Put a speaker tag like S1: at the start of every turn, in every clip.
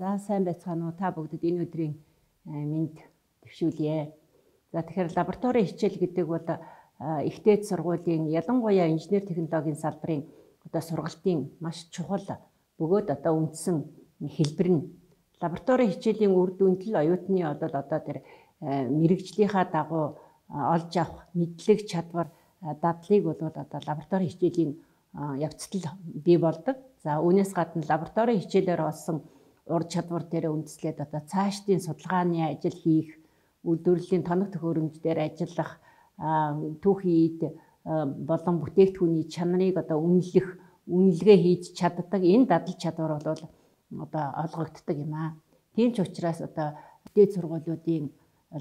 S1: За сайн байцгаана уу та бүгдэд энэ өдрийн мэнд төвшүүлье. За тэгэхээр лаборатори хичээл гэдэг бол ихтэй сургуулийн ялангуяа инженер технологийн салбарын сургалтын маш чухал бөгөөд үндсэн хэлбэр нь. Лаборатори хичээлийн үр дүнд л оюутны тэр мэрэгжлийнхаа дагуу олж авах мэдлэг чадвар дадлыг бол лаборатори хичээлийн явцдал бий болдог. За үүнээс гадна лаборатори хичээлээр олсон ур чадвар дээр үндэслээд цаашдын судалгааны ажил хийх, үйлдвэрлэлийн тоног төхөөрөмж дээр ажиллах, түүхийд болон бүтээгдэхүүний чанарыг үнэлэх, үнэлгээ хийж чаддаг энэ дадал чадвар бол олгогддог юм аа. Тийм ч учраас дээд сургуулиудын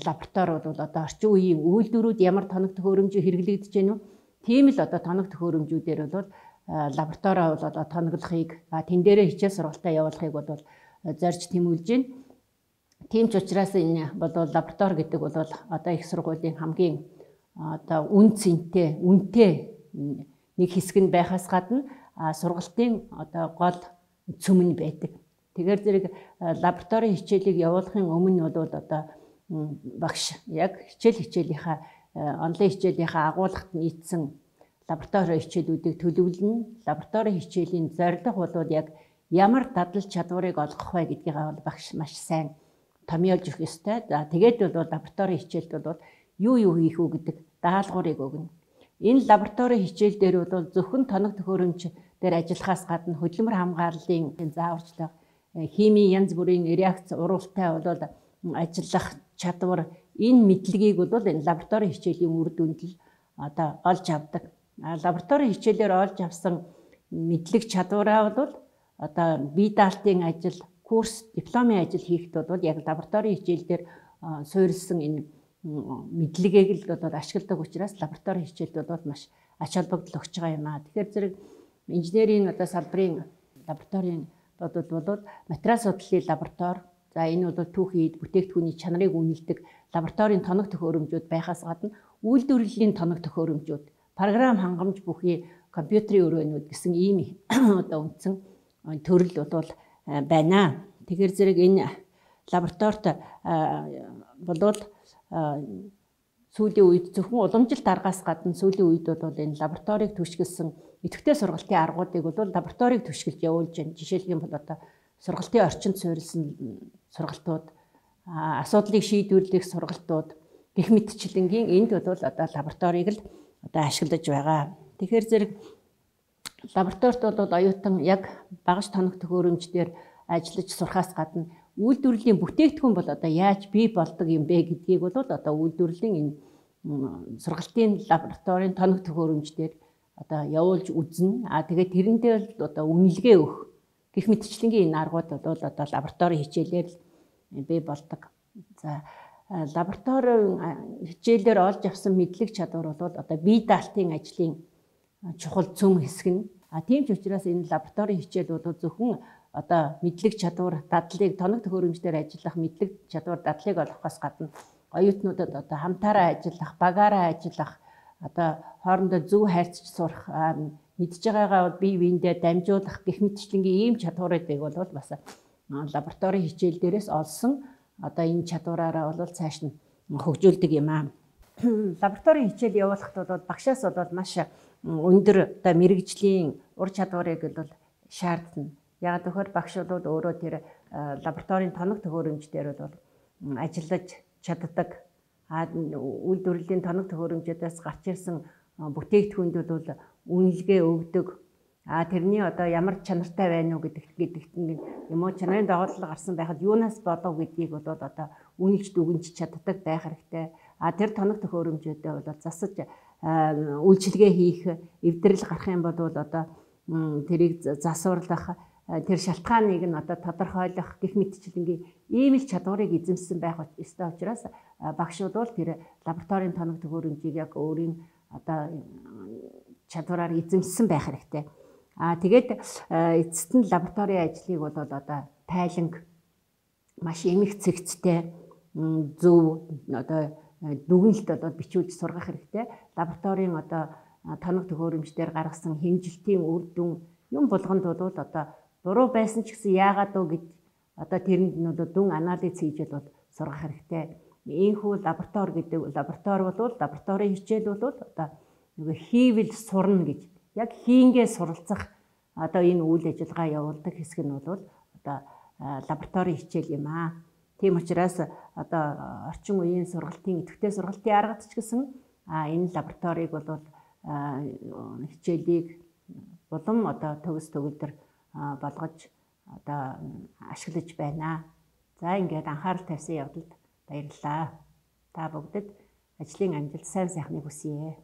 S1: лаборатори бол орчин үеийн үйлдвэрүүд ямар тоног төхөөрөмж хэрэглэгдэж байна вэ? Тийм л тоног төхөөрөмжүүдээр бол лабораторио бол тоноглохыг, тэн дээрээ хичээл сургалтаа явуулахыг бол зорж тэмүүлж байна. Тийм ч учраас энэ бол лаборатори гэдэг бол их сургуулийн хамгийн үнэтэй нэг хэсэг нь байхаас гадна сургалтын гол цөм нь байдаг. Тэгэхээр зэрэг лаборатори хичээлийг явуулахын өмнө бол багш яг хичээлийнхаа онлайн хичээлийнхаа агуулгад нийцсэн лаборатори хичээлүүдийг төлөвлөнө. Лаборатори хичээлийн зорилго бол яг ямар дадал чадварыг олгох вэ гэдгийг багш маш сайн томьёолж өгөх ёстой. За тэгээд бол лаборатори хичээлд бол юу хийх үү гэдэг даалгаврыг өгнө. Энэ лаборатори хичээл дээр бол зөвхөн тоног төхөөрөмж дээр ажиллахаас гадна хөдөлмөр хамгааллын зааварчлага, химийн янз бүрийн реакц уралтай бол ажиллах чадвар, энэ мэдлэгийг бол энэ лаборатори хичээлийн үр дүнд л олж авдаг. Лаборатори хичээлээр олж авсан мэдлэг чадвараа бол бие даалтын ажил, курс, дипломын ажил хийхэд бол яг лаборатори хичээлдэр суурилсан энэ мэдлэгийг л ашигладаг учраас лаборатори хичээлд бол маш ач холбогдол өгч байгаа юм аа. Тэгэхээр зэрэг инженерийн салбарын лабораторийн бол материал судлалын лаборатори, за энэ бол түүхийд бүтээгдэхүүний чанарыг үнэлдэг лабораторийн тоног төхөөрөмжүүд байхаас гадна үйлдвэрлэлийн тоног төхөөрөмжүүд, програм хангамж бүхий компьютерийн өрөөнүүд гэсэн ийм үндсэн төрөл бол байна. Тэгэхээр зэрэг энэ лабораторид бол сүүлийн үед зөвхөн уламжилт аргаас гадна сүүлийн үед бол энэ лабораторийг түшгэлсэн идэвхтэй сургалтын аргуудыг бол лабораторийг түшгэлж явуулж байна. Жишээлх юм бол сургалтын орчинд суурилсан сургалтууд, асуудлыг шийдвэрлэх сургалтууд гэх мэтчлэнгийн энд бол лабораторийг л ашиглаж байгаа. Тэгэхээр зэрэг лабораторид бол оюутан яг багаж тоног төхөөрөмждөр ажиллаж сурахаас гадна үйлдвэрлэлийн бүтээгдэхүүн бол яаж бий болдог юм бэ гэдгийг бол үйлдвэрлэлийн энэ сургалтын лабораторийн тоног төхөөрөмждөр явуулж үзнэ. Тэгээд тэрэндээ л үнэлгээ өгөх гэх мэтчлэнгийн энэ аргууд бол лаборатори хичээлээр бий болдог. За лабораторийн хичээлээр олж авсан мэдлэг чадвар бол бие даалтын ажлын чухал цөм хэсэг нь. Тийм ч учраас энэ лабораторийн хичээл бол зөвхөн мэдлэг чадвар дадлыг тоног төхөөрөмждөр ажиллах мэдлэг чадвар дадлыг олохоос гадна оюутнуудад хамтаараа ажиллах, багаараа ажиллах, хоорондоо зөв хайрцаж сурах, мэдж байгаагаа бие биендээ дамжуулах гэх мэтчлэнгийн ийм чадваруудыг бол бас лабораторийн хичээл дээрээс олсон энэ чадвараараа бол цааш нь хөгжүүлдэг юм аа. Лабораторийн хичээл явуулахад бол багшаас бол маш өндөр мэрэгжлийн ур чадварыг бол шаардна. Яг тэгэхээр багш бол өөрөө тэр лабораторийн тоног төхөөрөмж дээр бол ажиллаж чаддаг. Үйлдвэрлэлийн тоног төхөөрөмжөөдөөс гарч ирсэн бүтээгдэхүүнүүд бол үнэлгээ өгдөг. Тэрний ямар чанартай байна уу гэдэгт юм уу чанарын дагуулга гарсан байхад юунаас болов гэдгийг бол үнэлж дүгнж чаддаг байх хэрэгтэй. Тэр тоног төхөөрөмжүүдээ бол засаж үйлчилгээ хийх, эвдрэл гарах юм бол тэрийг засварлах, тэр шалтгааныг нь тодорхойлох гэх мэтчлэнгийн ийм л чадварыг эзэмсэн байх ёстой учраас багш бол тэр лабораторийн тоног төхөөрөмжийг яг өөрийн чадвараар эзэмсэн байх хэрэгтэй. Тэгээд эцэст нь лабораторийн ажлыг бол тайланг, маш эмх цэгцтэй, зөв дүгнэлт бичүүлж сургах хэрэгтэй. Лабораторийн тоног төхөөрөмждөр гаргасан хэмжилтийн үр дүн юм болгонд бол буруу байсан ч гэсэн яагаад вэ гэд одоо тэрэнд нь бол дүн анализ хийж бол сургах хэрэгтэй. Ийхүү лаборатори гэдэг лаборатори бол лабораторийн хичээл бол одоо нөгөө хийвэл сурна гэж яг хийнгээ суралцах одоо энэ үйл ажиллагаа явуулдаг хэсэг нь бол одоо лабораторийн хичээл юм аа. Тийм учраас одоо орчин үеийн сургалтын идэвхтэй сургалтын аргад ч гэсэн энэ лабораторийг бол хичээлийг улам одоо төгс төгөлдөр болгож одоо ашиглаж байна. За ингээд анхаарал тавьсан явдалд баярлалаа. Та бүгдэд ажлын амжилт сайн сайхныг хүсье.